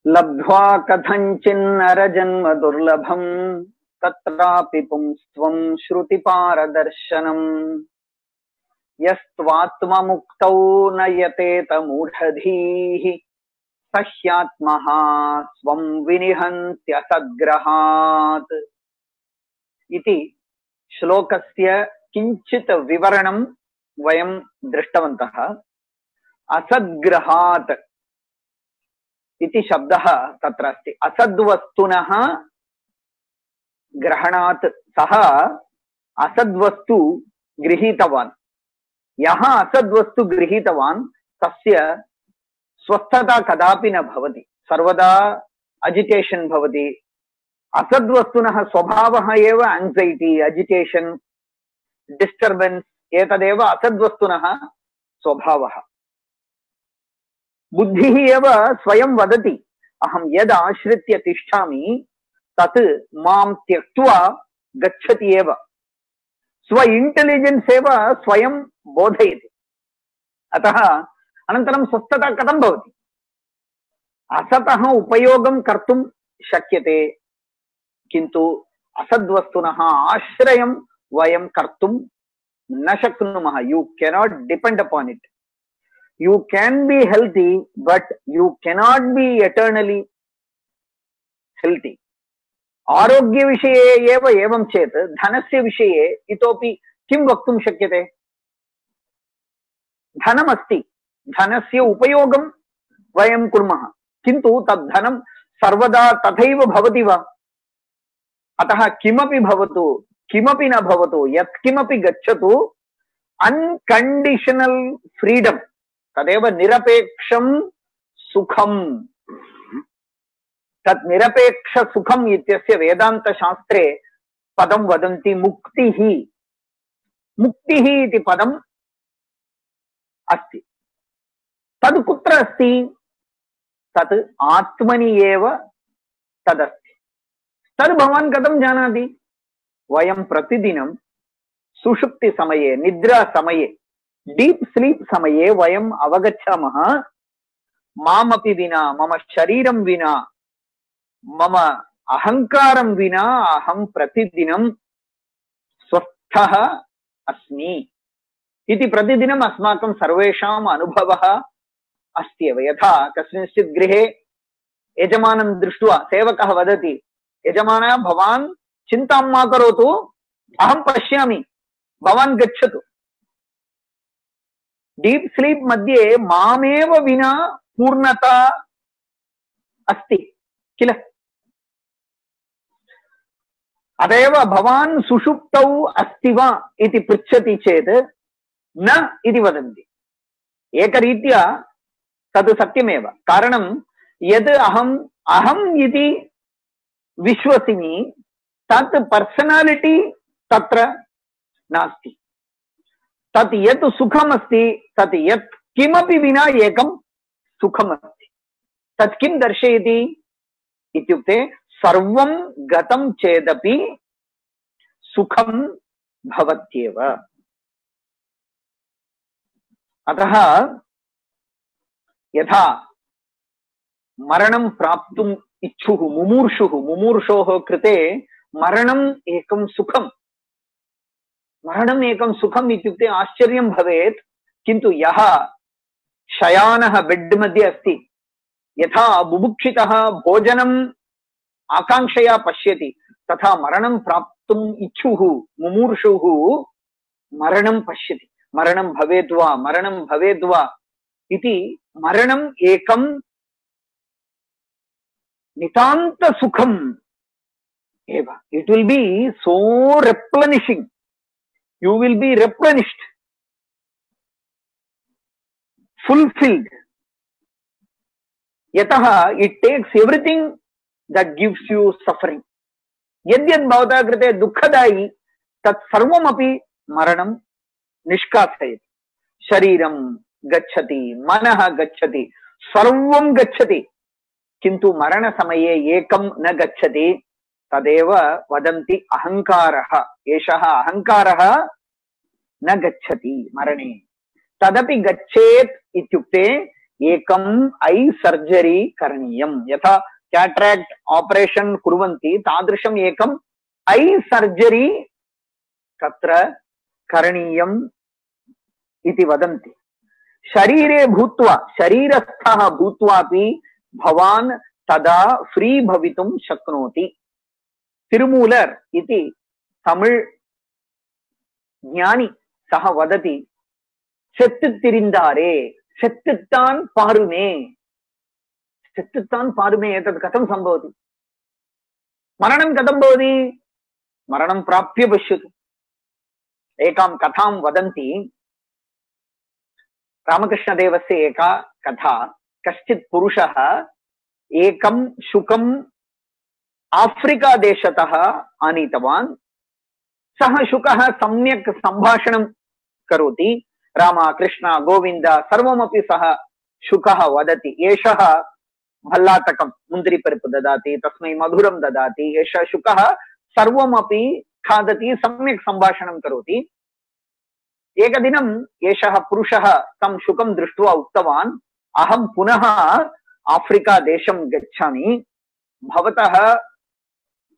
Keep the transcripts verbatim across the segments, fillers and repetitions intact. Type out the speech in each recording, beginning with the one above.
लब्ध्वा कथञ्चिन्नरजन्म दुर्लभम् तत्रापि पुंस्त्वं श्रुतिपारदर्शनम् यस्त्वात्ममुक्तौ न यतेत मूढधीः सह्यात्मः स्वं विनिहन्त्यसद्ग्रहात् इति श्लोकस्य किञ्चित् विवरणं वयं दृष्टवन्तः। असद्ग्रहात् इति शब्दः तत्र अस्ति। असद्वस्तुनः ग्रहणात् सः असद्वस्तु गृहीतवान्। यः असद्वस्तु गृहीतवान् तस्य स्वस्थता कदापि न भवति, सर्वदा अजिटेशन् भवति। असद्वस्तुनः स्वभावः एव एंग्जैटी, अजिटेशन्, डिस्टर्बेन्स्, एतदेव असद्वस्तुनः स्वभावः। बुद्धिः एव स्वयं वदति अहं यद् आश्रित्य तिष्ठामि तत् मां त्यक्त्वा गच्छति एव। स्व इंटेलिजेंस एव स्वयं बोधयति। अतः अनन्तरं स्वस्थता कथं भवति? असतः उपयोगं कर्तुं शक्यते, किन्तु असद्वस्तुनः आश्रयं वयं कर्तुं न शक्नुमः। You cannot depend upon it. You can be healthy, but you cannot be eternally healthy. आरोग्य विषये एव एवं चेत् धनस्य विषये इतोपि किं वक्तुं शक्यते? धनमस्ति, धनस्य उपयोगं वयं कुर्मः, किन्तु तद् धनं सर्वदा तथैव भवति वा? अतः किमपि भवतु किमपि न भवतु, यत् किमपि गच्छतु, अनकंडीशनल फ्रीडम तदेव निरपेक्षं सुखम्। तत् निरपेक्ष सुखम् इत्यस्य वेदांत शास्त्रे पदं वदन्ति मुक्तिः। मुक्तिः इति पदम् अस्ति। तद् कुत्र अस्ति? तत् आत्मनि एव तदस्ति। तद् भवान् कथं जानाति? वयं प्रतिदिनं सुषुप्ति समये, निद्रा समये, डीप स्लीप समये वयम् अवगच्छामः मामपि विना, मम शरीरं विना, मम अहंकारं विना अहं प्रतिदिनं स्वस्थः अस्मि इति प्रतिदिनम् अस्माकं सर्वेषाम् अनुभवः अस्ति एव। यथा कस्मिंश्चित् गृहे यजमानं दृष्ट्वा सेवकः वदति, यजमान भवान् चिन्तां मा करोतु, अहं पश्यामि, भवान् गच्छतु। डीप स्लीप मध्ये मामेव विना पूर्णता अस्ति किल? अतएव भवान् सुषुप्तौ अस्ति वा इति पृच्छति चेत् न इति वदन्ति। एकरीत्या तद् सत्यमेव। कारणं यद् अहम् अहम् इति विश्वसिमि तत् पर्सनालिटी तत्र नास्ति। तत् यत् सुखमस्ति तत् यत् किमपि विना एकं सुखमस्ति। तत् किं दर्शयति इत्युक्ते सर्वं गतं चेदपि सुखं भवत्येव। अतः यथा मरणं प्राप्तुम् इच्छुः मुमूर्षुः, मुमूर्षोः कृते मरणम् एकं सुखम्। मरणम् एकं सुखम् इत्युक्ते आश्चर्यं भवेत्, किन्तु यः शयानः बेड् मध्ये अस्ति, यथा बुभुक्षितः भोजनम् आकांक्षया पश्यति, तथा मरणं प्राप्तुम् इच्छुः मुमूर्षुः मरणं पश्यति। मरणं भवेद् वा, मरणं भवेद् वा इति। मरणम् एकं नितान्त सुखम् एव। It will be so replenishing. You will be replenished, fulfilled. Yataha it takes everything that gives you suffering. Yadyad bhavata krite dukkadayi tat sarvamapi maranam nishkasayati. Shariram gacchati, manah gacchati, sarvam gacchati. Kintu marana samaye ekam na gacchati. तदेव वदन्ति अहंकारः। एषः अहंकारः न गच्छति मरणे। तदपि गच्छेत् इत्युक्ते एकम I surgery करणीयम यथा कैटरेक्ट ऑपरेशन कुर्वन्ति तादृशम एकम ऐ सर्जरी तत्र करणीयम इति वदन्ति। शरीरे भूत्वा शरीरस्थः भूत्वापि भवान् तदा फ्री भवितुं शक्नोति। तिरुमूलर् इति तमिळ् ज्ञानी सः वदति सेत्तु तिरिन्दारे सेत्तुत्तान् पारुमे। सेत्तुत्तान् पारुमे एतत् कथं सम्भवति? मरणं कथं भवति? मरणं प्राप्य पश्यतु। एकां कथां वदन्ति। रामकृष्णदेवस्य एका कथा। कश्चित् पुरुषः एकं शुकम् आफ्रिका देशतः आनीतवान्। सः शुकः सम्यक् सम्भाषणं करोति। राम कृष्ण गोविन्द सर्वमपि सः शुकः वदति। एषः भल्लातकं मुन्द्रिपरिपु ददाति, तस्मै मधुरं ददाति। एषः शुकः सर्वमपि खादति, सम्यक् सम्भाषणं करोति। एकदिनं एषः पुरुषः तं शुकं दृष्ट्वा उक्तवान्, अहं पुनः आफ्रिका देशं गच्छामि। भवतः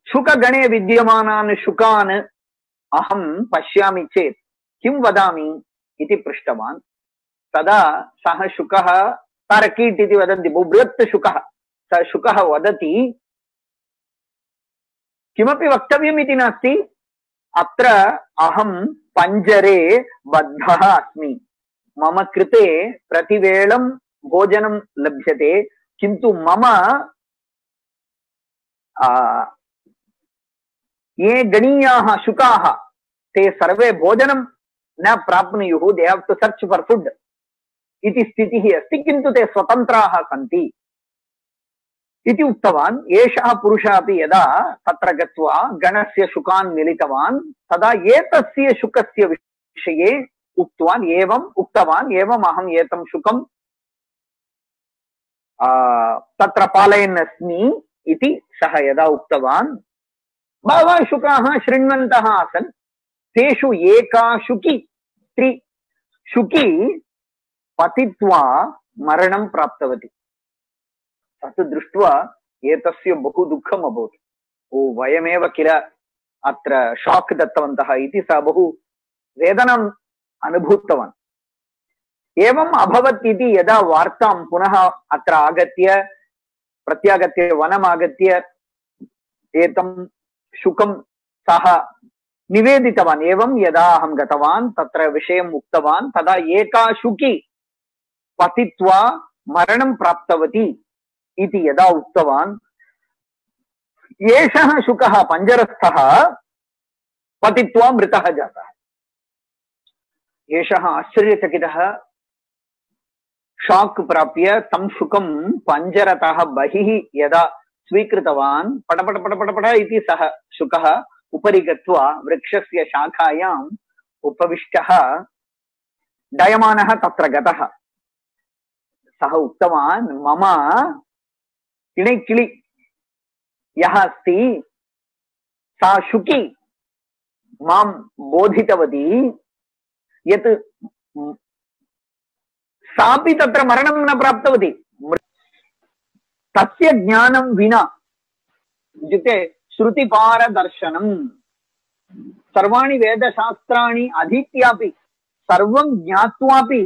शुकगणे विद्यमानान् शुकान् अहं पश्यामि चेत् किं वदामि इति पृष्टवान्। तदा सः शुकः तारकीट् इति वदन्ति, बहुबृहत् शुकः। सः शुकः वदति, किमपि वक्तव्यम् इति नास्ति, अत्र अहं पञ्जरे बद्धः अस्मि। मम कृते प्रतिवेळं भोजनं लभ्यते, किन्तु मम ये गणीयाः शुकाः ते सर्वे भोजनं न प्राप्नुयुः। They have to search for food इति स्थितिः अस्ति, किन्तु ते स्वतन्त्राः सन्ति इति उक्तवान्। एषः पुरुषः अपि यदा तत्र गत्वा गणस्य शुकान् मिलितवान्, तदा एतस्य शुकस्य विषये उक्तवान्, एवम् उक्तवान्, एवम् अहम् एतं शुकं तत्र पालयन् अस्मि इति सः यदा उक्तवान्, बहवः शुकाः शृण्वन्तः आसन्। तेषु एका शुकी स्त्री शुकी पतित्वा मरणं प्राप्तवती। तत् दृष्ट्वा एतस्य बहु दुःखम् अभवत्। ओ वयमेव किल अत्र शाक् दत्तवन्तः इति सः बहु वेदनाम् अनुभूतवान्। एवम् अभवत् इति यदा वार्तां पुनः अत्र आगत्य प्रत्यागत्य वनम् आगत्य एतं शुकं सः निवेदितवान्। एवं यदा अहं गतवान् तत्र विषयम् उक्तवान्, तदा एका शुकी पतित्वा मरणं प्राप्तवती इति यदा उक्तवान्, एषः शुकः पञ्जरस्थः पतित्वा मृतः जातः। एषः आश्चर्यचकितः, शाक् प्राप्य तं शुकं पञ्जरतः बहिः यदा स्वीकृतवान्, पटपट पटपटपट इति सः शुकः उपरि गत्वा वृक्षस्य शाखायाम् उपविष्टः डयमानः तत्र गतः। सः उक्तवान्, मम किणैकिळि यः अस्ति सा शुकी मां बोधितवती यत् सापि तत्र मरणं न प्राप्तवती। तस्य ज्ञानं विना इत्युक्ते श्रुतिपारदर्शनम्, सर्वाणि वेदशास्त्राणि अधीत्यापि सर्वं ज्ञात्वापि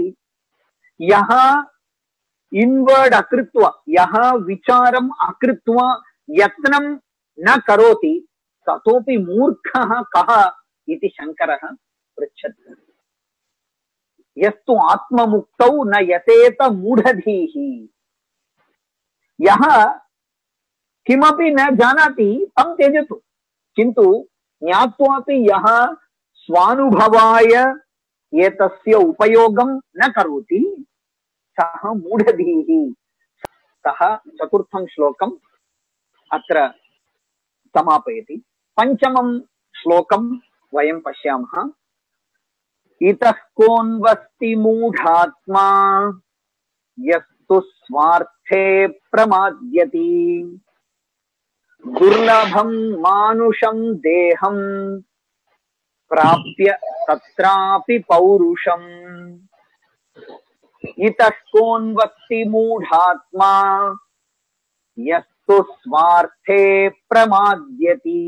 यः इन्वर्ड् अकृत्वा यः विचारम् अकृत्वा यत्नं न करोति ततोपि मूर्खः कः इति शङ्करः पृच्छति। यस्तु आत्ममुक्तौ न यतेत मूढधीः। यः किमपि न जानाति तं त्यजतु, किन्तु ज्ञात्वापि यः स्वानुभवाय एतस्य उपयोगं न करोति सः मूढधीः। सः चतुर्थं श्लोकम् अत्र समापयति। पञ्चमं श्लोकं वयं पश्यामः। इतः कोऽन्वस्ति मूढात्मा यस्तु स्वार्थे प्रमाद्यति दुर्लभं मानुषं देहं प्राप्य तत्रापि पौरुषम्। इतः कोऽन्वस्ति मूढात्मा यस्तु स्वार्थे प्रमाद्यति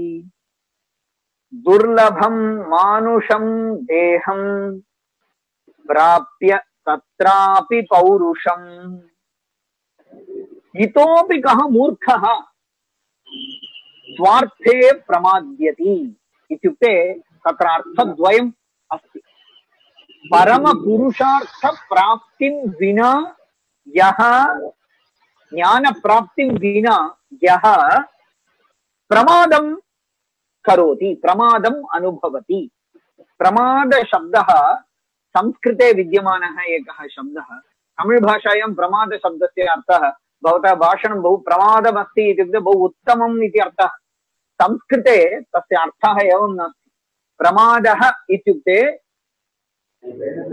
दुर्लभं मानुषं देहं प्राप्य तत्रापि पौरुषम् इतोपि कः मूर्खः स्वार्थे प्रमाद्यति इत्युक्ते तत्र अर्थद्वयम् अस्ति। परम पुरुषार्थ प्राप्तिं विना यः ज्ञान प्राप्तिं विना यः प्रमादं करोति प्रमादम् अनुभवति। प्रमाद शब्दः संस्कृते विद्यमानः एकः शब्दः। तमिळ् भाषायां प्रमाद शब्दस्य अर्थः भवतः भाषणं बहु प्रमादमस्ति इत्युक्ते बहु उत्तमम् इति अर्थः। संस्कृते तस्य अर्थः एवं नास्ति। प्रमादः इत्युक्ते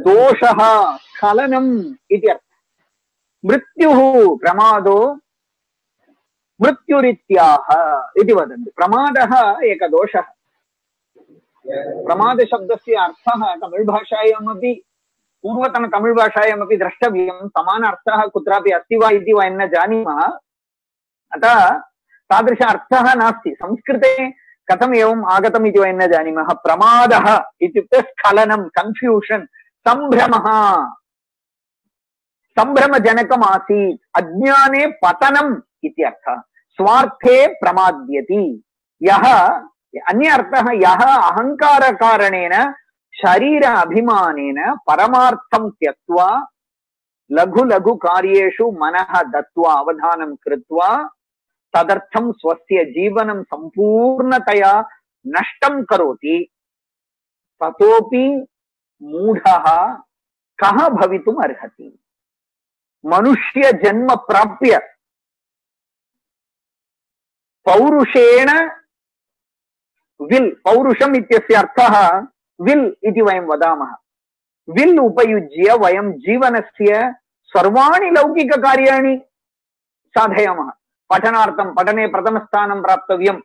दोषः स्खलनम् इति अर्थः। मृत्युः प्रमादो मृत्युरित्याह इति वदन्ति। प्रमादः एकः दोषः। प्रमाद शब्दस्य अर्थः तमिळ् भाषायामपि पूर्वतन तमिळ् भाषायामपि द्रष्टव्यं। समान अर्थः कुत्रापि अस्ति वा इति वयं न जानीमः। अतः तादृश अर्थः नास्ति। संस्कृते कथम् एवम् आगतम् इति वयं न जानीमः। प्रमादः इत्युक्ते स्खलनं, कन्फ्यूषन्, सम्भ्रमः, सम्भ्रमजनकम् आसीत्, अज्ञाने पतनम् इत्यर्थः। स्वार्थे प्रमाद्यति यः, अन्य अर्थः यः अहङ्कारकारणेन शरीर अभिमानेन परमार्थं त्यक्त्वा लघु लघु कार्येषु मनः दत्त्वा अवधानं कृत्वा तदर्थं स्वस्य जीवनं संपूर्णतया नष्टं करोति ततोपि मूढः कः भवितुम् अर्हति। मनुष्य जन्म प्राप्य पौरुषेण विल्, पौरुषम् इत्यस्य अर्थः विल् इति वयं वदामः। विल् उपयुज्य वयं जीवनस्य सर्वाणि लौकिककार्याणि साधयामः। पठनार्थं पठने प्रथमस्थानं प्राप्तव्यं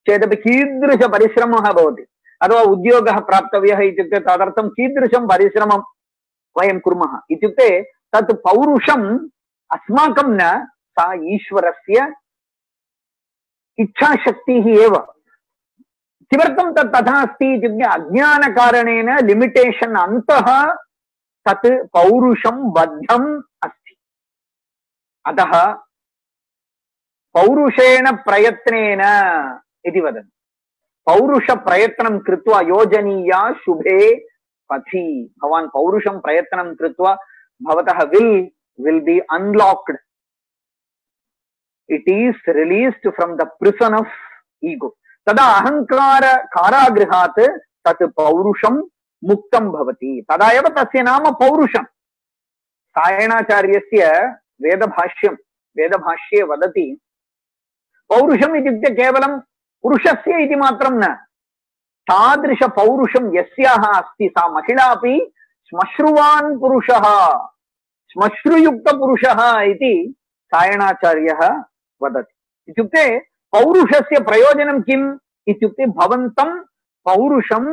चेदपि कीदृश परिश्रमः भवति, अथवा उद्योगः प्राप्तव्यः इत्युक्ते तदर्थं कीदृशं परिश्रमं वयं कुर्मः इत्युक्ते तत् पौरुषम् अस्माकं न, सा ईश्वरस्य इच्छाशक्तिः एव। किमर्थं तत् तथा अस्ति इत्युक्ते अज्ञानकारणेन लिमिटेशन् अन्तः तत् पौरुषं बद्धम् अस्ति। अतः पौरुषेण प्रयत्नेन इति वदन्ति। पौरुष प्रयत्नं कृत्वा योजनीया शुभे पथि। भवान् पौरुषं प्रयत्नं कृत्वा भवतः will will be unlocked. It is released from the prison of ego. तदा अहंकार कारागृहात् तत् पौरुषं मुक्तं भवति। तदा एव तस्य नाम पौरुषं। सायणाचार्यस्य वेदभाष्यं वेदभाष्ये वदति पौरुषम् इत्युक्ते केवलं पुरुषस्य इति मात्रं न, तादृश पौरुषं यस्याः अस्ति सा महिला अपि श्मश्रुवान् पुरुषः, श्मश्रुयुक्त पुरुषः इति सायणाचार्यः वदति। इत्युक्ते पौरुषस्य प्रयोजनं किम् इत्युक्ते भवन्तं पौरुषं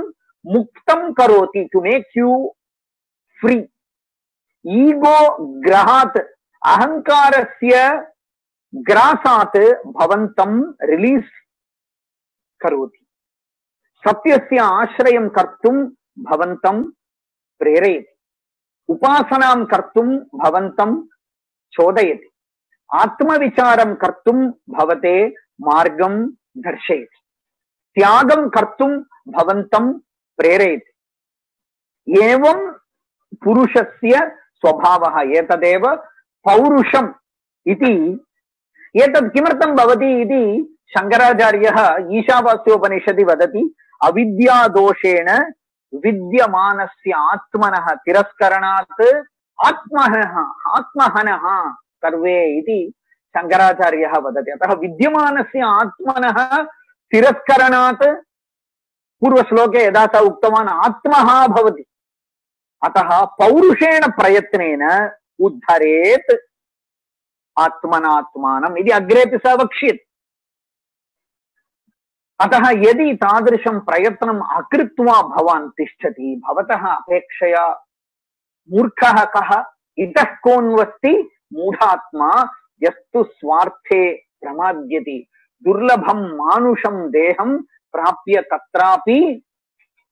मुक्तं करोति, to make you free. Ego ग्रहात्, अहंकारस्य ग्रासात् भवन्तं रिलीज करोति। सत्यस्य आश्रयं कर्तुं भवन्तं प्रेरयति, उपासनां कर्तुं भवन्तं चोदयति, आत्मविचारं कर्तुं भवते मार्गं दर्शयति, त्यागं कर्तुं भवन्तं प्रेरयति। एवं पुरुषस्य स्वभावः। एतदेव पौरुषम् इति। एतत् किमर्थं भवति इति शंकराचार्यः ईशावास्योपनिषदि वदति। अविद्यादोषेण विद्यमानस्य आत्मनः तिरस्करणात् आत्महनः आत्महनः सर्वे इति शंकराचार्यः वदति। अतः विद्यमानस्य आत्मनः तिरस्करणात्, पूर्वश्लोके यदा स उक्तवान् आत्मः भवति, अतः पौरुषेण प्रयत्नेन उद्धरेत् आत्मनात्मानम् इति अग्रेपि स वक्ष्यति। अतः यदि तादृशं प्रयत्नम् अकृत्वा भवान् तिष्ठति, भवतः अपेक्षया मूर्खः कः इतः कोऽन्वस्ति मूढात्मा यस्तु स्वार्थे प्रमाद्यति दुर्लभं मानुषं देहं प्राप्य तत्रापि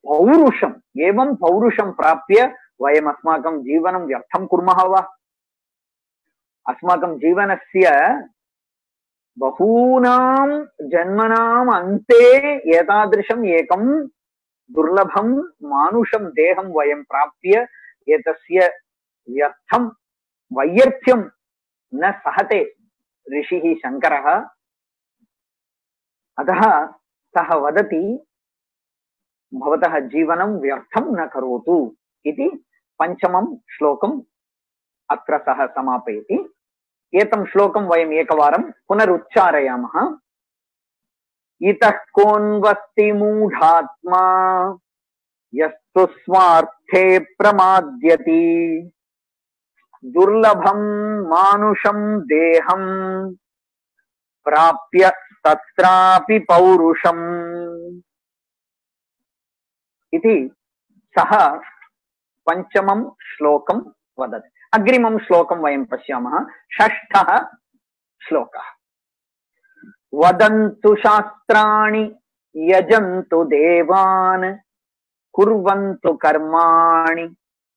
पौरुषम् एवं पौरुषं प्राप्य वयम् अस्माकं जीवनं व्यर्थं कुर्मः वा? अस्माकं जीवनस्य बहूनां जन्मनाम् अन्ते एतादृशम् एकं दुर्लभं मानुषं देहं वयं प्राप्य एतस्य व्यर्थं वैयर्थ्यं न सहते ऋषिः शङ्करः। अतः सः वदति भवतः जीवनं व्यर्थं न करोतु इति पञ्चमं श्लोकम् अत्र सः समापयति। एतं श्लोकं वयम् एकवारं पुनरुच्चारयामः। इतः कोऽन्वस्ति मूढात्मा यस्तु स्वार्थे प्रमाद्यति दुर्लभं मानुषं देहं प्राप्य तत्रापि पौरुषम् इति सः पञ्चमं श्लोकं वदति। अग्रिमं श्लोकं वयं पश्यामः। षष्ठः श्लोकः। वदन्तु शास्त्राणि यजन्तु देवान् कुर्वन्तु कर्माणि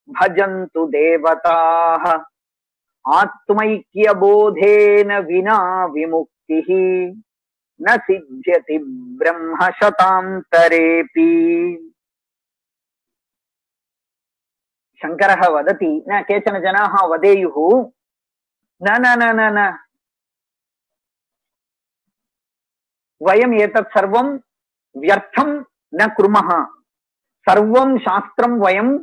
भजन्तु देवताः आत्मैक्यबोधेन विना विमुक्तिः न सिद्ध्यति ब्रह्म शतान्तरेऽपि। शङ्करः वदति न केचन जनाः वदेयुः न न न न न वयम् एतत् सर्वं व्यर्थं न कुर्मः। सर्वं शास्त्रं वयं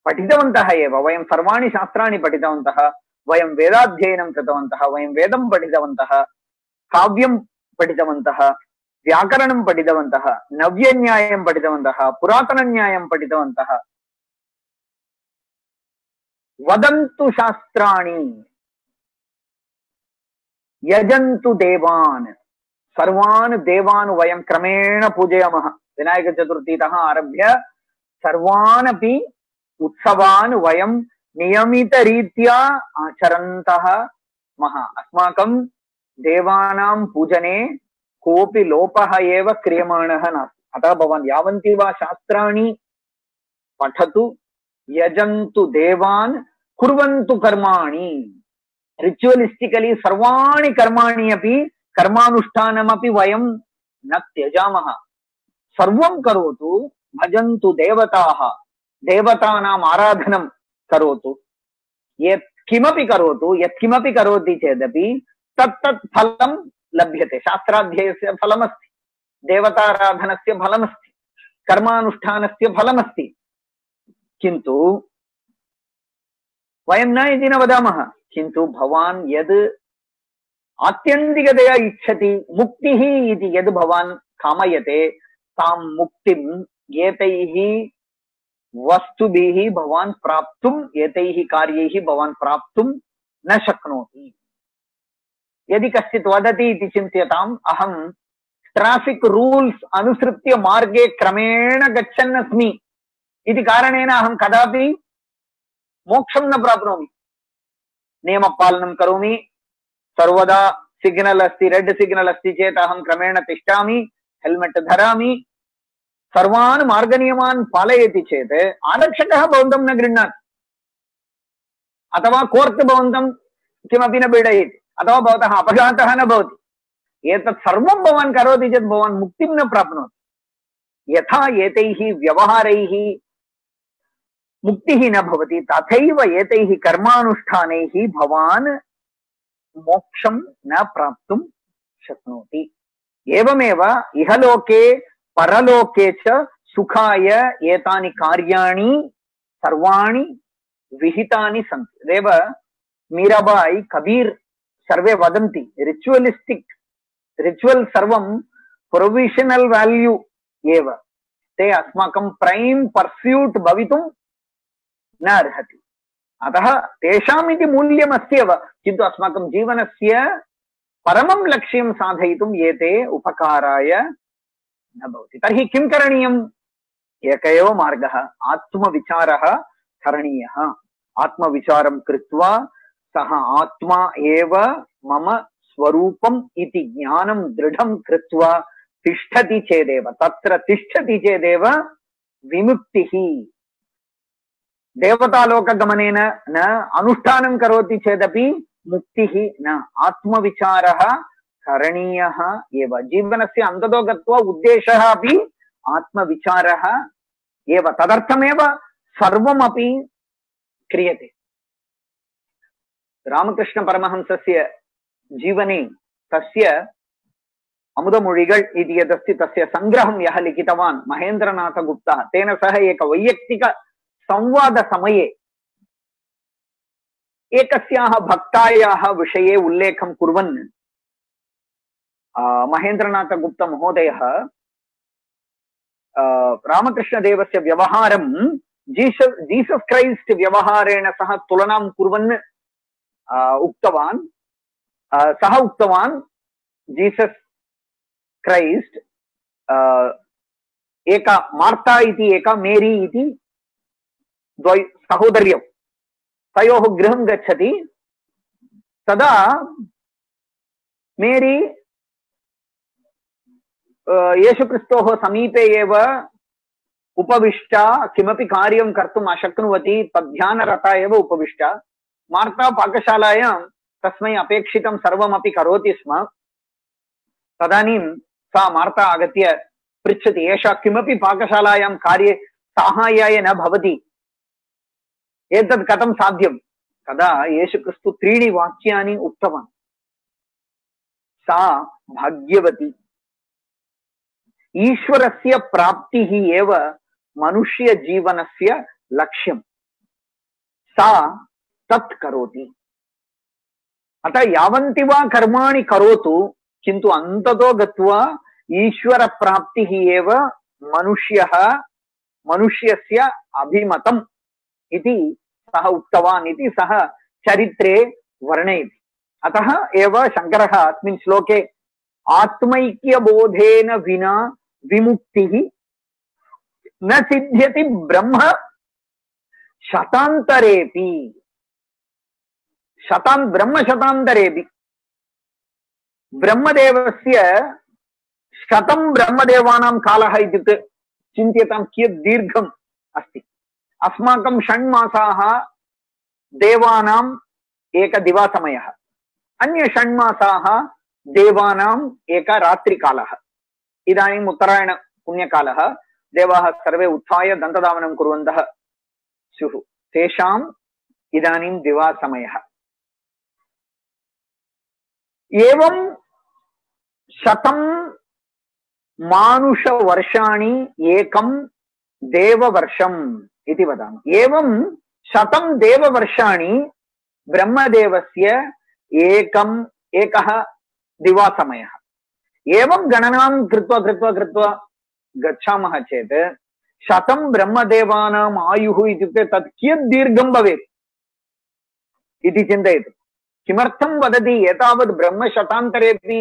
पठितवन्तः एव। वयं सर्वाणि शास्त्राणि पठितवन्तः। वयं वेदाध्ययनं कृतवन्तः। वयं वेदं पठितवन्तः, काव्यं पठितवन्तः, व्याकरणं पठितवन्तः, नव्यन्यायं पठितवन्तः, पुरातनन्यायं पठितवन्तः। वदन्तु शास्त्राणि यजन्तु देवान्। सर्वान् देवान् वयं क्रमेण पूजयामः। विनायक चतुर्थीतः आरभ्य सर्वान् अपि उत्सवान् वयं नियमितरीत्या आचरन्तः मः। अस्माकं देवानां पूजने कोऽपि लोपः एव क्रियमाणः नास्ति। अतः भवान् यावन्ति वा शास्त्राणि पठतु, यजन्तु देवान्, कुर्वन्तु कर्माणि। रिचुअलिस्टिकली सर्वाणि कर्माणि अपि कर्मानुष्ठानमपि वयं न त्यजामः। सर्वं करोतु। भजन्तु देवताः, देवतानाम् आराधनं करोतु। यत् किमपि करोतु, यत्किमपि करोति चेदपि तत् तत् फलं लभ्यते। शास्त्राध्ययस्य फलमस्ति, देवताराधनस्य फलमस्ति, कर्मानुष्ठानस्य फलमस्ति। किन्तु वयं न इति न वदामः। किन्तु भवान् यद् आत्यन्तिकतया इच्छति, मुक्तिः इति यद् भवान् कामयते, तां मुक्तिं एतैः वस्तुभिः भवान् प्राप्तुम्, एतैः कार्यैः भवान् प्राप्तुं न शक्नोति। यदि कश्चित् वदति इति चिन्त्यताम्, अहं ट्राफिक् रूल्स् अनुसृत्य मार्गे क्रमेण गच्छन् अस्मि इति कारणेन अहं कदापि मोक्षं न प्राप्नोमि। नियमपालनं करोमि, सर्वदा सिग्नल् अस्ति, रेड् सिग्नल् अस्ति चेत् अहं क्रमेण तिष्ठामि, हेल्मेट् धरामि, सर्वान् मार्गनियमान् पालयति चेत् आरक्षकः भवन्तं न गृह्णाति, अथवा कोर्ट् भवन्तं किमपि न पीडयति, अथवा भवतः अपघातः न भवति। एतत् सर्वं भवान् करोति चेत् भवान् मुक्तिं न प्राप्नोति। यथा एतैः व्यवहारैः मुक्तिः न भवति, तथैव एतैः कर्मानुष्ठानैः भवान् मोक्षं न प्राप्तुं शक्नोति। एवमेव इहलोके परलोके च सुखाय एतानि कार्याणि सर्वाणि विहितानि सन्ति। देव मीराबाई, कबीर सर्वे वदन्ति रिचुअलिस्टिक् रिचुअल् सर्वं प्रोविशनल् वाल्यू एव। ते अस्माकं प्रैम् पर्स्यूट् भवितुं न अर्हति। अतः तेषाम् इति मूल्यम् अस्त्येव, किन्तु अस्माकं जीवनस्य परमं लक्ष्यं साधयितुम् एते उपकाराय न भवति। तर्हि किं करणीयम्? एक एव मार्गः, आत्मविचारः करणीयः। आत्मविचारं कृत्वा सः आत्मा एव मम स्वरूपम् इति ज्ञानं दृढं कृत्वा तिष्ठति चेदेव, तत्र तिष्ठति चेदेव विमुक्तिः। देवतालोकगमनेन न अनुष्ठानं करोति चेदपि मुक्तिः न। आत्मविचारः करणीयः एव। जीवनस्य अन्ततो गत्वा उद्देशः अपि आत्मविचारः एव। तदर्थमेव सर्वमपि क्रियते। रामकृष्णपरमहंसस्य जीवने तस्य अमुदमूळिगळ् इति यदस्ति तस्य सङ्ग्रहं यः लिखितवान् महेन्द्रनाथगुप्तः, तेन सह एक वैयक्तिक संवादसमये एकस्याः भक्तायाः विषये उल्लेखं कुर्वन् महेन्द्रनाथगुप्त महोदयः रामकृष्णदेवस्य व्यवहारं जीसस् जीसस् क्राइस्ट व्यवहारेण सह तुलनां कुर्वन् उक्तवान्। सः उक्तवान् जीसस् क्राइस्ट एका मार्ता इति एका मेरी इति द्वय सहोदर्यौ, तयोः गृहं गच्छति। तदा मेरी येशुक्रिस्तोः समीपे एव उपविष्टा किमपि कार्यं कर्तुम् अशक्नुवती, तद्ध्यानरता एव उपविष्टा। मार्ता पाकशालायां तस्मै अपेक्षितं सर्वमपि करोति स्म। तदानीं सा मार्ता आगत्य पृच्छति, एषा किमपि पाकशालायां कार्ये साहाय्याय न भवति, एतत् कथं साध्यं? तदा येशुक्रिस्तु त्रीणि वाक्यानि उक्तवान्। सा भाग्यवती। ईश्वरस्य प्राप्तिः एव मनुष्य जीवनस्य लक्ष्यं। सा तत् करोति। अतः यावन्ति वा कर्माणि करोतु, किन्तु अन्ततो गत्वा ईश्वर प्राप्तिः एव मनुष्यः मनुष्यस्य अभिमतम् इति सः उक्तवान् इति सः चरित्रे वर्णयति। अतः एव शङ्करः अस्मिन् श्लोके आत्मैक्यबोधेन विना विमुक्तिः न सिद्ध्यति ब्रह्म शतान्तरेपि। शतान् ब्रह्म शतान्तरेपि। ब्रह्मदेवस्य शतं ब्रह्मदेवानां कालः इत्युक्ते चिन्त्यतां कियत् दीर्घम् अस्ति। अस्माकं षण्मासाः देवानाम् एक दिवासमयः, अन्य षण्मासाः देवानाम् एक रात्रिकालः। इदानीम् उत्तरायण पुण्यकालः, देवाः सर्वे उत्थाय दन्तधावनं कुर्वन्तः स्युः, तेषाम् इदानीं दिवासमयः। एवं शतं मानुषवर्षाणि एकं देववर्षम् इति वदामि। एवं शतं देववर्षाणि ब्रह्मदेवस्य एकम् एकः दिवासमयः। एवं गणनां कृत्वा कृत्वा कृत्वा गच्छामः चेत् शतं ब्रह्मदेवानाम् आयुः इत्युक्ते तत् कियत् दीर्घं भवेत् इति चिन्तयतु। किमर्थं वदति एतावत् ब्रह्मशतान्तरेपि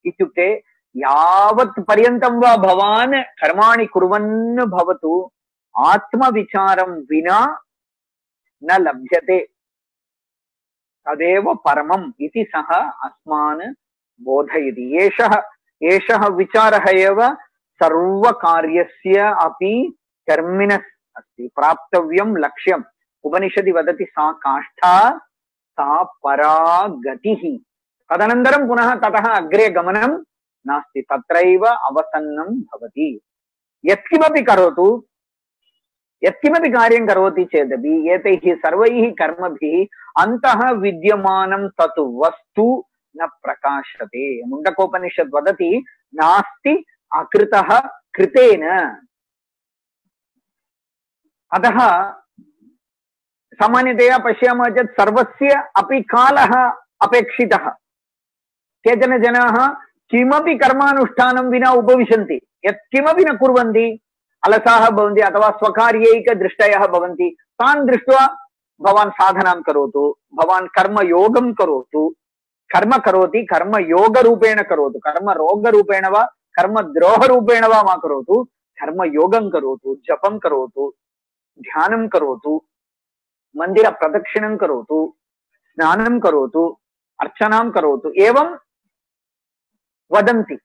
इत्युक्ते यावत् पर्यन्तं वा भवान् कर्माणि कुर्वन् भवतु, आत्मविचारं विना न लभ्यते, तदेव परमम् इति सः अस्मान् बोधयति। एषः एषः विचारः एव सर्वकार्यस्य अपि टर्मिनस् अस्ति, प्राप्तव्यं लक्ष्यम्। उपनिषदि वदति सा काष्ठा सा परा गतिः। तदनन्तरं पुनः ततः अग्रे गमनं नास्ति, तत्रैव अवसन्नं भवति। यत्किमपि करोतु, यत्किमपि कार्यं करोति चेदपि एतैः सर्वैः कर्मभिः अन्तः विद्यमानं तत् वस्तु न प्रकाशते। मुण्डकोपनिषत् वदति नास्ति अकृतः कृतेन। अतः सामान्यतया पश्यामः चेत् सर्वस्य अपि कालः अपेक्षितः। केचन जनाः किमपि कर्मानुष्ठानं विना उपविशन्ति, यत्किमपि न कुर्वन्ति, अलसाः भवन्ति अथवा स्वकार्यैकदृष्टयः भवन्ति। तान् दृष्ट्वा भवान् साधनां करोतु, भवान् कर्मयोगं करोतु, कर्म करोति कर्मयोगरूपेण करोतु, कर्मरोगरूपेण वा कर्मद्रोहरूपेण वा मा करोतु, कर्मयोगं करोतु, जपं करोतु, ध्यानं करोतु। मंदिर प्रदक्षिणं करोतु, स्नानं करोतु, अर्चनां करोतु एवं वदन्ति।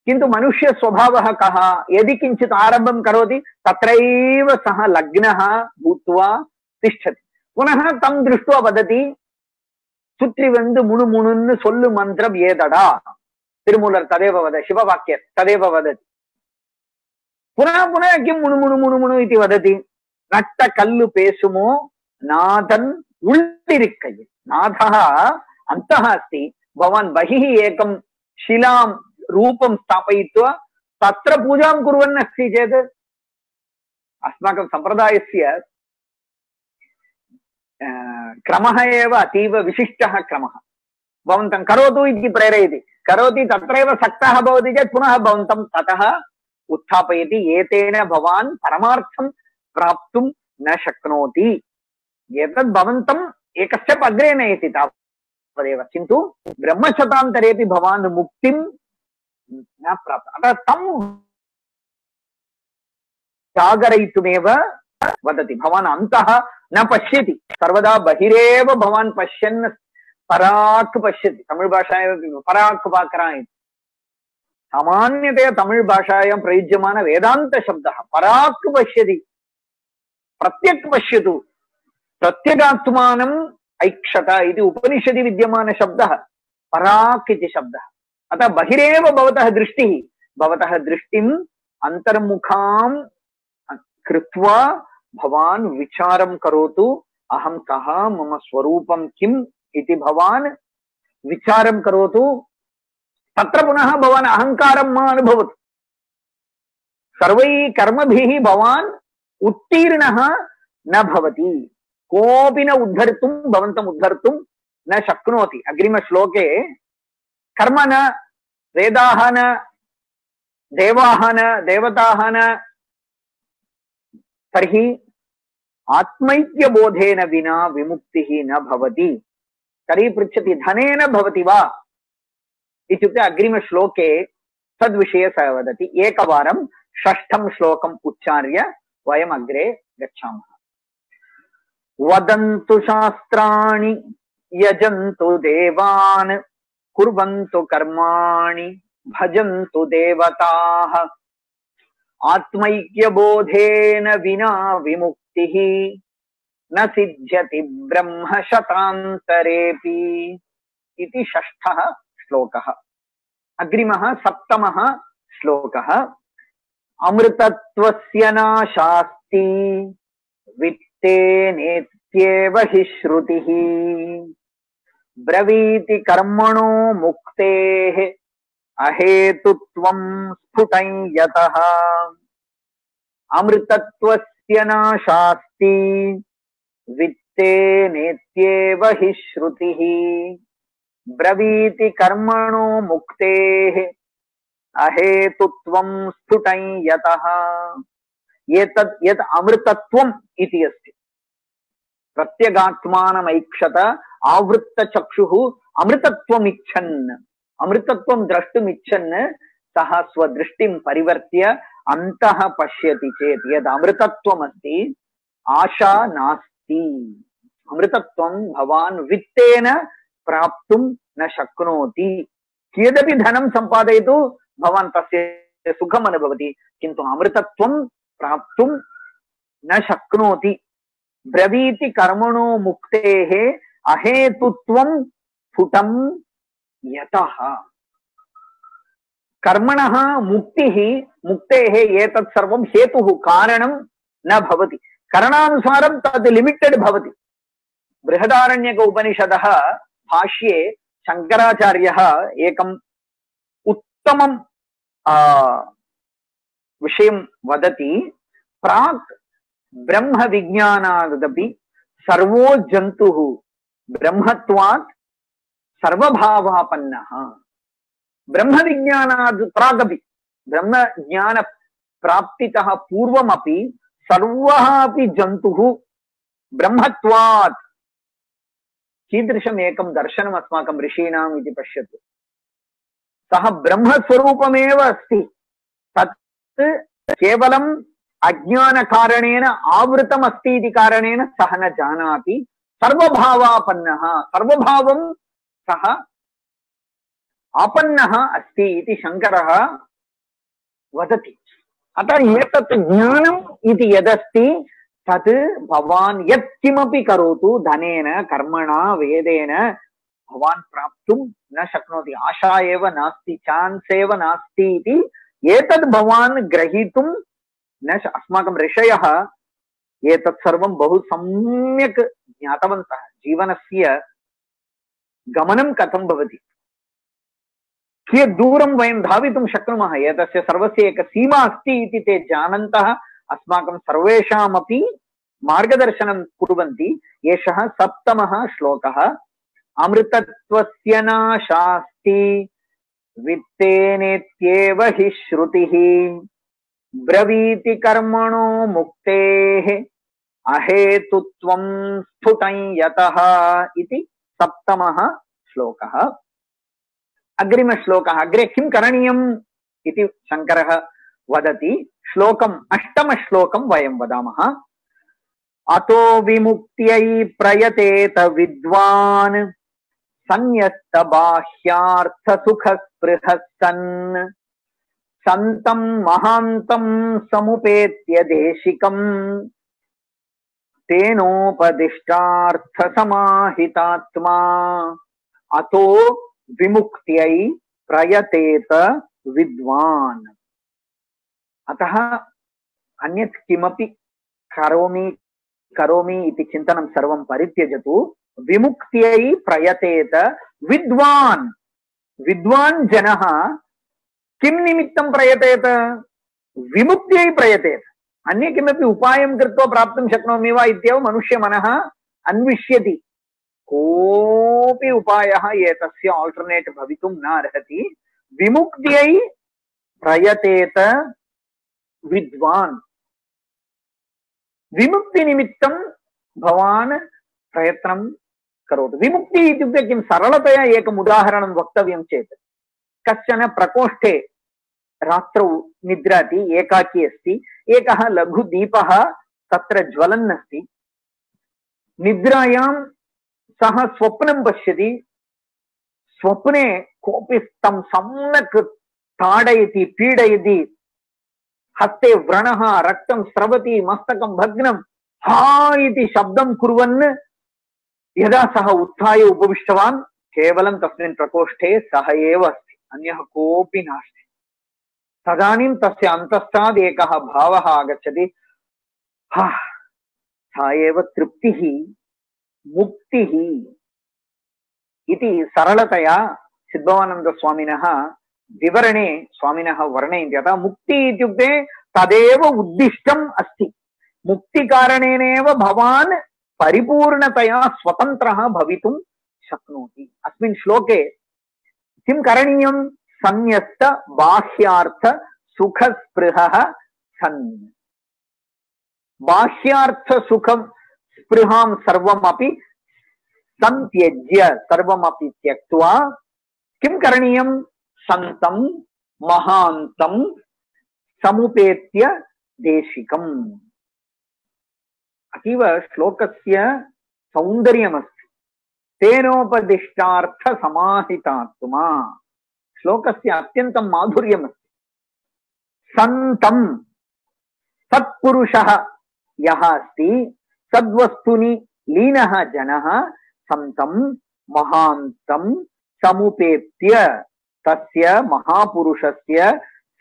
किन्तु मनुष्य स्वभावः कः? यदि किञ्चित् आरम्भं करोति तत्रैव सः लग्नः भूत्वा तिष्ठति। पुनः तं दृष्ट्वा वदति, सुत्रि वंदु मुणु मुणुन्नु सोल्लु मन्त्रं एदडा। तिरुमूलर् तदेव वद, शिववाक्य तदेव वदति। पुनः पुनः किं मुणु मुणु मुणु मुणु इति वदति? नट्ट कल्लु पेसुमो नाथन् उल्लिरिक्कयि। नाथः अन्तः अस्ति, भवान् बहिः एकं शिलां रूपं स्थापयित्वा तत्र पूजां कुर्वन् अस्ति चेत्, अस्माकं सम्प्रदायस्य क्रमः एव अतीव विशिष्टः क्रमः। भवन्तं करोतु इति प्रेरयति, करोति तत्रैव सक्तः भवति चेत् पुनः भवन्तं ततः उत्थापयति। एतेन भवान् परमार्थं प्राप्तुं न शक्नोति। एतद् भवन्तम् एक स्टेप् अग्रे नयति तावदेव, किन्तु ब्रह्मशतान्तरेपि भवान् मुक्तिं न प्राप्त। अतः तं जागरयितुमेव वदति। भवान् अन्तः न पश्यति, सर्वदा बहिरेव भवान् पश्यन् पराक् पश्यति। तमिळ् भाषायां पराक् पाकरा इति सामान्यतया तमिळ् भाषायां प्रयुज्यमान वेदान्त शब्दः पराक् पश्यति। प्रत्यक् पश्यतु, प्रत्यगात्मानम् ऐक्षत इति उपनिषदि विद्यमान शब्दः पराक् इति शब्दः। अतः बहिरेव भवतः दृष्टिः, भवतः दृष्टिम् अन्तर्मुखां कृत्वा भवान् विचारं करोतु। अहं कः, मम स्वरूपं किम् इति भवान् विचारं करोतु। तत्र पुनः भवान् अहङ्कारं मा अनुभवतु। सर्वैः कर्मभिः भवान् उत्तीर्णः न भवति। कोऽपि न उद्धर्तुं, भवन्तम् उद्धर्तुं न शक्नोति। अग्रिमश्लोके कर्म न, वेदाः न, देवाः न, देवताः न, तर्हि आत्मैक्यबोधेन विना विमुक्तिः न भवति। तर्हि पृच्छति, धनेन भवति वा इत्युक्ते अग्रिमश्लोके तद्विषये सः वदति। एकवारं षष्ठं श्लोकम् उच्चार्य वयम् अग्रे गच्छामः। वदन्तु शास्त्राणि यजन्तु देवान् कुर्वन्तु कर्माणि भजन्तु देवताः आत्मैक्यबोधेन विना विमुक्तिः न सिद्ध्यति ब्रह्म शतान्तरेऽपि इति षष्ठः श्लोकः। अग्रिमः सप्तमः श्लोकः। अमृतत्वस्य नाशास्ति वित्तेनेत्येव हि श्रुतिः ब्रवीति कर्मणो मुक्तेः अहेतुत्वं स्फुटं यतः। अमृतत्वस्य नाशास्ति वित्तेनेत्येव हि श्रुतिः ब्रवीति कर्मणो मुक्तेः अहेतुत्वं स्फुटं यतः। एतत् यत् अमृतत्वम् इति अस्ति, प्रत्यगात्मानमैक्षत आवृत्तचक्षुः अमृतत्वमिच्छन्, अमृतत्वं द्रष्टुमिच्छन् सः स्वदृष्टिं परिवर्त्य अन्तः पश्यति चेत् यद् अमृतत्वमस्ति आशा नास्ति। अमृतत्वं भवान् वित्तेन प्राप्तुं न शक्नोति। कियदपि धनं सम्पादयतु भवान् तस्य सुखम् अनुभवति, किन्तु अमृतत्वं प्राप्तुं न शक्नोति। ब्रवीति कर्मणो मुक्तेः अहेतुत्वं स्फुटं यतः। कर्मणः मुक्तिः, मुक्तेः एतत् सर्वं हेतुः, कारणं न भवति। करणानुसारं तद् लिमिटेड् भवति। बृहदारण्यक उपनिषदः भाष्ये शङ्कराचार्यः एकम् उत्तमं विषयं वदति। प्राक् ब्रह्म विज्ञानादपि सर्वो जन्तुः ब्रह्मत्वात् सर्वभावापन्नः। ब्रह्म विज्ञानात् प्रागपि, ब्रह्म ज्ञान प्राप्तितः पूर्वमपि सर्वः अपि जन्तुः ब्रह्मत्वात्। कीदृशम् एकं दर्शनम् अस्माकं ऋषीणाम् इति पश्यतु। सः ब्रह्मस्वरूपमेव अस्ति। तत् केवलं अज्ञानकारणेन आवृतमस्ति इति कारणेन सः न जानाति। सर्वभावापन्नः, सर्वभावं सः आपन्नः अस्ति इति शङ्करः वदति। अतः एतत् ज्ञानम् इति यदस्ति तत् भवान् यत्किमपि करोतु धनेन कर्मणा वेदेन भवान् प्राप्तुं न शक्नोति। आशा एव नास्ति, चान्स् एव नास्ति इति एतद् भवान् ग्रहीतुं न श अस्माकं ऋषयः एतत् सर्वं बहु सम्यक् ज्ञातवन्तः। जीवनस्य गमनं कथं भवति, कियत् दूरं वयं धावितुं शक्नुमः, एतस्य सर्वस्य एक सीमा अस्ति इति ते जानन्तः अस्माकं सर्वेषामपि मार्गदर्शनं कुर्वन्ति। एषः सप्तमः श्लोकः। अमृतत्वस्य नाशास्ति वित्तेनेत्येव हि श्रुतिः ब्रवीति कर्मणो मुक्तेः अहेतुत्वं स्फुटं यतः इति सप्तमः श्लोकः। अग्रिम श्लोकः। अग्रे किं करणीयम् इति शङ्करः वदति। श्लोकम् अष्टम श्लोकं वयं वदामः। अतो विमुक्त्यै प्रयतेत विद्वान् संयस्त बाह्यार्थ सुख स्पृहः सन् सन्तं महान्तं समुपेत्य देशिकं तेनोपदिष्टार्थ समाहितात्मा। अतो विमुक्त्यै प्रयतेत विद्वान्। अतः अन्यत् किमपि करोमि करोमि इति चिन्तनं सर्वं परित्यजतु। विमुक्त्यै प्रयतेत विद्वान्। विद्वान् जनः किं निमित्तं प्रयतेत? विमुक्त्यै प्रयतेत। अन्य किमपि उपायं कृत्वा प्राप्तुं शक्नोमि वा इत्येव मनुष्यमनः अन्विष्यति। कोऽपि उपायः एतस्य आल्टर्नेट् भवितुं न अर्हति। विमुक्त्यै प्रयतेत विद्वान्। विमुक्तिनिमित्तं भवान् प्रयत्नं करोतु। विमुक्ति इत्युक्ते किं? सरलतया एकम् उदाहरणं वक्तव्यं चेत्, कश्चन प्रकोष्ठे रात्रौ निद्राति, एकाकी अस्ति, एकः लघुदीपः तत्र ज्वलन् अस्ति। निद्रायां सः स्वप्नं पश्यति। स्वप्ने कोऽपि तं सम्यक् ताडयति, पीडयति, हस्ते व्रणः, रक्तं स्रवति, मस्तकं भग्नं, हा इति शब्दं कुर्वन् यदा सः उत्थाय उपविष्टवान्, केवलं तस्मिन् प्रकोष्ठे सः एव अस्ति, अन्यः कोऽपि नास्ति। तदानीं तस्य अन्तःस्थात् एकः भावः आगच्छति, हा सा एव तृप्तिः, मुक्तिः इति सरलतया सिद्धवानन्दस्वामिनः विवरणे स्वामिनः वर्णयन्ति। अतः मुक्ति इत्युक्ते तदेव उद्दिष्टम् अस्ति। मुक्तिकारणेनैव भवान् परिपूर्णतया स्वतन्त्रः भवितुं शक्नोति। अस्मिन् श्लोके किं करणीयं? संयस्त बाह्यार्थ सुख स्पृहः सन्। बाह्यार्थ सुखं स्पृहां सर्वमपि संत्यज्य, सर्वमपि त्यक्त्वा किं करणीयं? सन्तं महान्तं समुपेत्य देशिकम्। अतीव श्लोकस्य सौन्दर्यमस्ति। तेनोपदिष्टार्थ समाहितात्मा। श्लोकस्य अत्यन्तं माधुर्यमस्ति। सन्तं, सत्पुरुषः यः अस्ति, सद्वस्तुनि लीनः जनः, सन्तं महान्तं समुपेत्य, तस्य महापुरुषस्य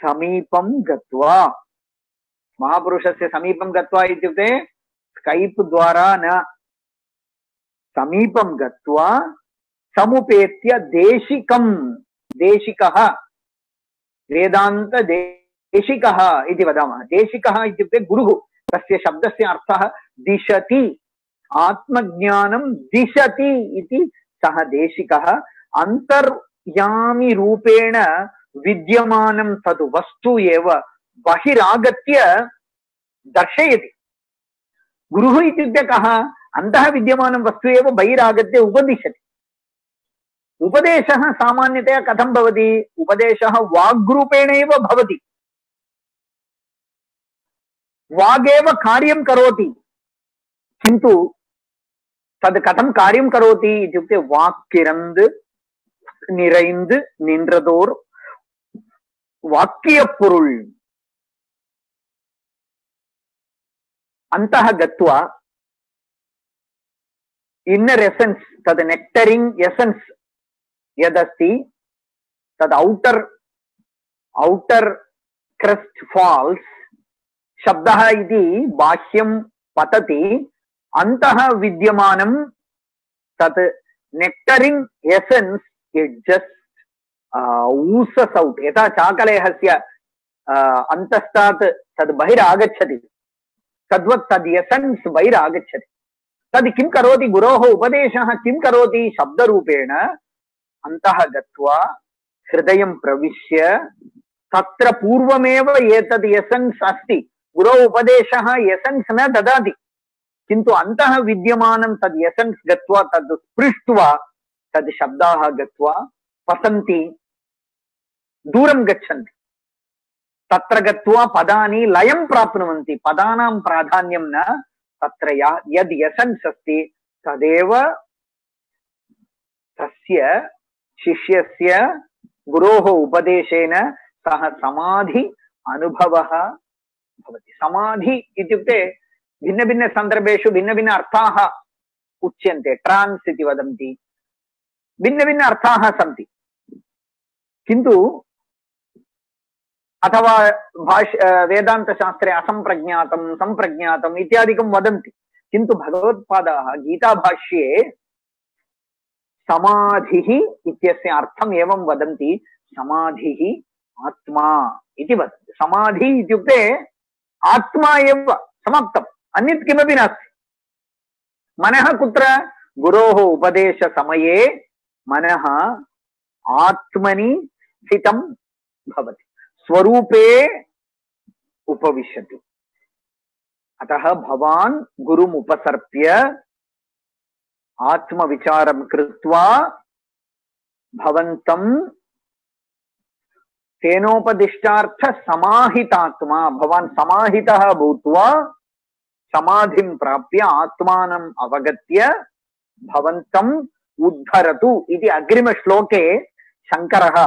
समीपं गत्वा। महापुरुषस्य समीपं गत्वा इत्युक्ते स्कैप् द्वारा न, समीपं गत्वा समुपेत्य देशिकं। देशिकः वेदान्त देशिकः इति वदामः। देशिकः इत्युक्ते गुरुः। तस्य शब्दस्य अर्थः दिशति, आत्मज्ञानं दिशति इति सः देशिकः। अन्तर्यामि रूपेण विद्यमानं तद् वस्तु एव बहिरागत्य दर्शयति। गुरुः इत्युक्ते कः? अन्तः विद्यमानं वस्तु एव बहिरागत्य उपदिशति। उपदेशः सामान्यतया कथं भवति? उपदेशः वाग्रूपेण एव भवति। वागेव कार्यं करोति, किन्तु तद् कथं कार्यं करोति इत्युक्ते वाक्किरन्द् நிறைந்து நின்றதோர் वाक्य பொருள் अन्तः गत्वा इन्नर एसेन्स् तद् नेक्टरिंग एसेन्स् यदस्ति तद् औटर् औटर् क्रस्ट फॉल्स शब्दः इति बाह्यं पतति अन्तः विद्यमानं तत् नेक्टरिंग एसेन्स् इट् जस्ट ऊसस् औट् यथा चाकलेहस्य अन्तस्तात् तद् बहिरागच्छति तद्वत् तद् एसेन्स् बहिरागच्छति। तद् किं करोति गुरोः उपदेशः किं करोति शब्दरूपेण अन्तः गत्वा हृदयं प्रविश्य तत्र पूर्वमेव एतद् एसेन्स् अस्ति। गुरोः उपदेशः एसेन्स् न ददाति किन्तु अन्तः विद्यमानं तद् एसेन्स् गत्वा तद् स्पृष्ट्वा तद् शब्दाः गत्वा पतन्ति दूरं गच्छन्ति। तत्र गत्वा पदानि लयं प्राप्नुवन्ति। पदानां प्राधान्यं न तत्र यद् एसेन्स् अस्ति तदेव तस्य शिष्यस्य गुरोः उपदेशेन सः समाधि अनुभवः भवति। समाधि इत्युक्ते भिन्न भिन्न सन्दर्भेषु भिन्न भिन्न अर्थाः उच्यन्ते। ट्रान्स् इति वदन्ति, भिन्न भिन्न अर्थाः सन्ति, किन्तु अथवा भाष्य वेदान्तशास्त्रे असंप्रज्ञातं संप्रज्ञातम् इत्यादिकं वदन्ति, किन्तु भगवत्पादाः गीताभाष्ये समाधिः इत्यस्य अर्थम् एवं वदन्ति। समाधिः आत्मा इति वदन्ति। समाधि इत्युक्ते आत्मा एव, समाप्तम्, अन्यत् किमपि नास्ति। मनः कुत्र? गुरोः उपदेशसमये मनः आत्मनि स्थितं भवति, स्वरूपे उपविशति। अतः भवान् गुरुम् उपसर्प्य आत्मविचारं कृत्वा भवन्तं तेनोपदिष्टार्थ समाहितात्मा, भवान् समाहितः भूत्वा समाधिं प्राप्य आत्मानम् अवगत्य भवन्तम् उद्धरतु इति अग्रिमश्लोके शङ्करः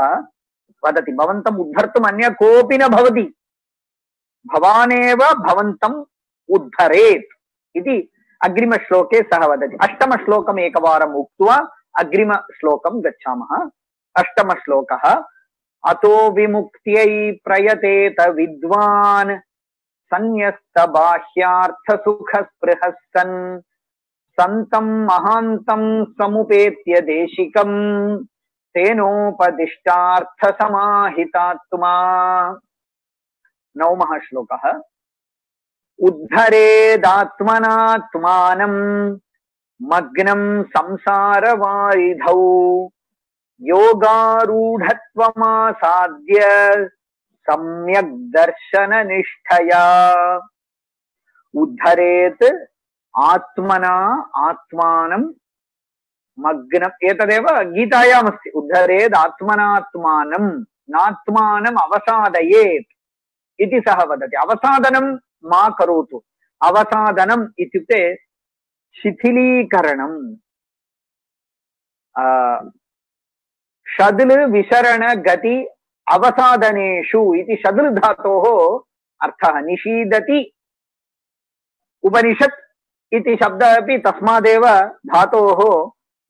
वदति। भवन्तम् उद्धर्तुम् अन्य कोऽपि न भवति, भवानेव भवन्तम् उद्धरेत् इति अग्रिमश्लोके सः वदति। अष्टमश्लोकम् एकवारम् उक्त्वा अग्रिमश्लोकं गच्छामः। अष्टमश्लोकः अतो विमुक्त्यै प्रयतेत विद्वान् संन्यस्त बाह्यार्थ सुख स्पृहः सन् संतं महान्तं समुपेत्य देशिकं तेनोपदिष्टार्थ समाहितात्मा। नवमः श्लोकः उद्धरेदात्मनात्मानं मग्नं संसारवारिधौ योगारूढत्वमासाद्य सम्यक् दर्शननिष्ठया। उद्धरेत् आत्मना आत्मानं मग्नम्, एतदेव गीतायामस्ति। उद्धरेद् आत्मनात्मानं नात्मानम् अवसादयेत् इति सः वदति। अवसादनं मा करोतु। अवसादनम् इत्युक्ते शिथिलीकरणम्। षद्ल विशरण गति अवसादनेषु इति षद्ल धातोः अर्थः। निषीदति उपनिषत् इति शब्दः अपि तस्मादेव धातोः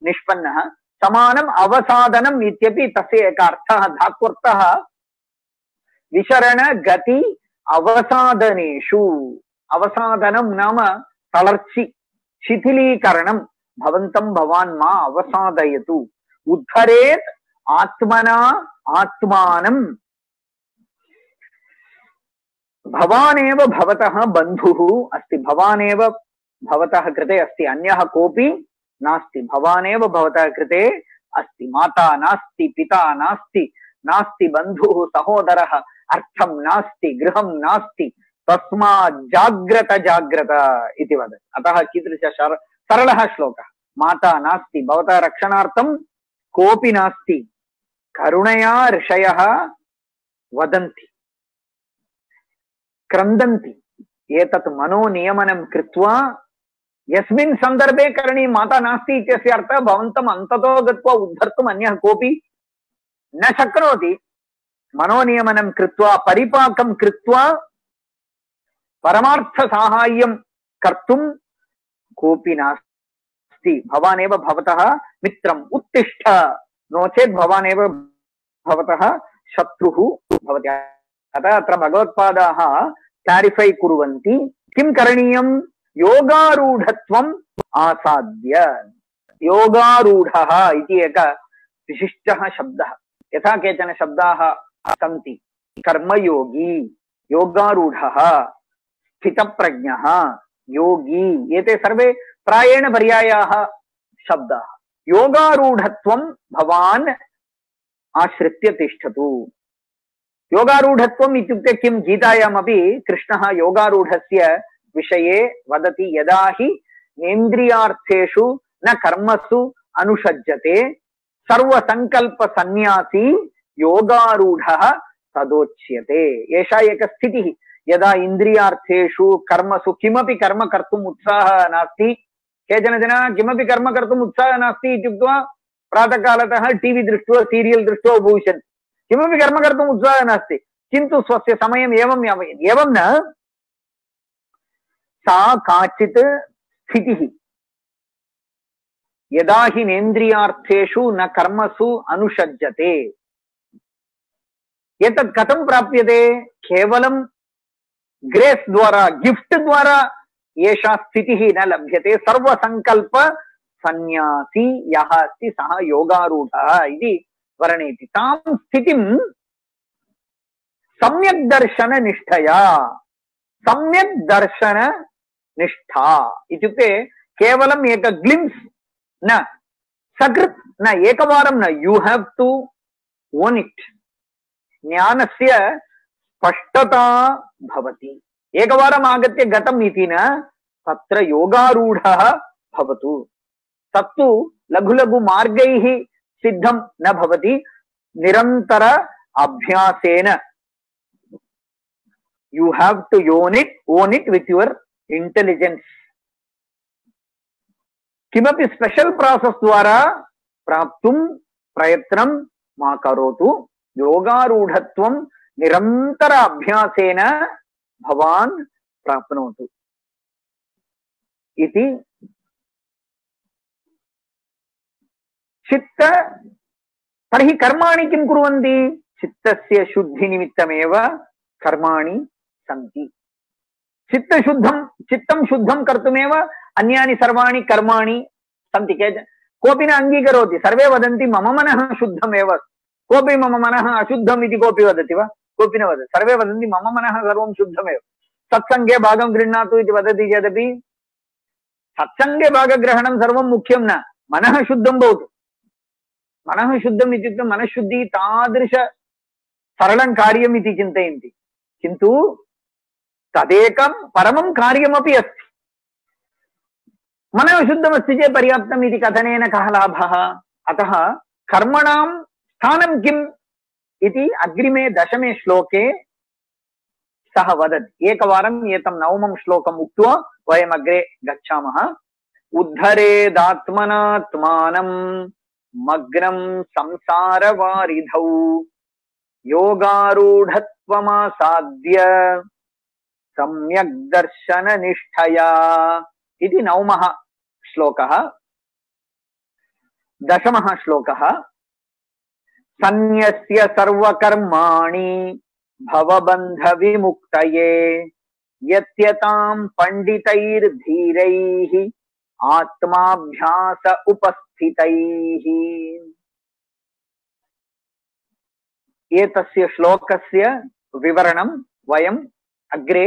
निष्पन्नः। समानम् अवसादनम् इत्यपि तस्य एकः अर्थः, धात्वर्थः विशरण गति अवसादनेषु। अवसादनं नाम तलर्चि, शिथिलीकरणं। भवन्तं भवान् मा अवसादयतु। उद्धरेत् आत्मना आत्मानं। भवानेव भवतः बन्धुः अस्ति, भवानेव भवतः कृते अस्ति, अन्यः कोऽपि नास्ति। भवानेव भवतः कृते अस्ति। माता नास्ति, पिता नास्ति, नास्ति बन्धुः सहोदरः, अर्थं नास्ति, गृहं नास्ति। तस्मात् जाग्रत जाग्रत इति वदति। अतः कीदृश सरलः श्लोकः। माता नास्ति, भवतः रक्षणार्थं कोऽपि नास्ति। करुणया ऋषयः वदन्ति, क्रन्दन्ति, एतत् मनोनियमनं कृत्वा यस्मिन् सन्दर्भे करणीयं माता नास्ति इत्यस्य अर्थः भवन्तम् अन्ततो गत्वा उद्धर्तुम् अन्यः कोऽपि न शक्नोति। मनोनियमनं कृत्वा परिपाकं कृत्वा परमार्थसाहाय्यं कर्तुं कोऽपि नास्ति। भवानेव भवतः मित्रम्, उत्तिष्ठ, नो चेत् भवानेव भवतः शत्रुः भवति। अतः अत्र भगवत्पादाः क्लारिफै कुर्वन्ति किं करणीयं। योगारूढत्वम् आसाद्य, योगारूढः इति एकः विशिष्टः शब्दः। यथा केचन शब्दाः सन्ति, कर्मयोगी, योगारूढः, स्थितप्रज्ञः, योगी, एते सर्वे प्रायेण पर्यायाः शब्दाः। योगारूढत्वं भवान् आश्रित्य तिष्ठतु। योगारूढत्वम् इत्युक्ते किं, गीतायामपि कृष्णः योगारूढस्य विषये वदति। यदा हि नेन्द्रियार्थेषु न कर्मसु अनुषज्यते सर्वसंकल्प सन्यासी योगारूढः तदोच्यते। एषा एका स्थितिः। यदा इन्द्रियार्थेषु कर्मसु किमपि कर्म कर्तुम् उत्साहः नास्ति, केचन जनाः किमपि कर्म कर्तुम् उत्साहः नास्ति इत्युक्त्वा प्रातःकालतः टीवी दृष्ट्वा सीरियल् दृष्ट्वा उपविशन्, किमपि कर्म कर्तुम् उत्साहः नास्ति, किन्तु स्वस्य समयम् एवं यापयति। एवं न, सा काचित् स्थितिः। यदा हि नेन्द्रियार्थेषु न कर्मसु अनुषज्यते, एतत् कथं प्राप्यते? केवलं ग्रेस् द्वारा, गिफ्ट् द्वारा एषा स्थितिः न लभ्यते। सर्वसंकल्प सन्यासी यः अस्ति सः योगारूढः इति वर्णयति। तां स्थितिं सम्यक् दर्शन निष्ठया, सम्यक् दर्शन निष्ठा इत्युक्ते केवलम् एक ग्लिम्स् न, सकृत् न, एकवारं न, you have to own it. ज्ञानस्य स्पष्टता भवति। एकवारम् आगत्य गतम् इति न, तत्र योगारूढः भवतु। तत्तु लघु लघु मार्गैः सिद्धं न भवति, निरन्तर अभ्यासेन। You have to own it, own it with your intelligence. किमपि स्पेशल प्रोसेस द्वारा प्राप्तुं प्रयत्नं मा करोतु। योगारूढत्वं निरन्तर अभ्यासेन भवान् प्राप्नोतु इति। चित्त तर्हि कर्माणि किं कुर्वन्ति? चित्तस्य शुद्धिनिमित्तमेव कर्माणि सन्ति। चित्तशुद्धं चित्तं शुद्धं कर्तुमेव अन्यानि सर्वाणि कर्माणि सन्ति। केचन कोऽपि न अङ्गीकरोति, सर्वे वदन्ति मम मनः शुद्धमेव। कोऽपि मम मनः अशुद्धम् इति कोऽपि वदति वा? कोऽपि न वदति। सर्वे वदन्ति मम मनः सर्वं शुद्धमेव। सत्सङ्गे भागं गृह्णातु इति वदति चेदपि सत्सङ्गे भागग्रहणं सर्वं मुख्यं न, मनः शुद्धं भवतु। मनः शुद्धम् इत्युक्ते मनःशुद्धिः तादृश सरलं कार्यम् इति चिन्तयन्ति, किन्तु तदेकं परमं कार्यमपि अस्ति। मनः शुद्धमस्ति चेत् पर्याप्तम् इति कथनेन कः लाभः? अतः कर्मणां स्थानं किम् इति अग्रिमे दशमे श्लोके सः वदति। एकवारम् एतं नवमं श्लोकम् उक्त्वा वयम् अग्रे गच्छामः। उद्धरेदात्मनात्मानं मग्नं संसारवारिधौ योगारूढत्वमासाद्य सम्यक् दर्शन निष्ठया इति नवमः श्लोकः। दशमः श्लोकः सन्न्यस्य सर्वकर्माणि भवबन्ध विमुक्तये यत्यतां पंडितैर्धीरैः आत्माभ्यास उपस्थितैः। एतस्य श्लोकस्य विवरणं वयम् अग्रे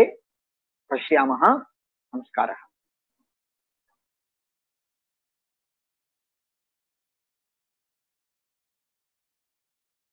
पश्यामः। नमस्कारः।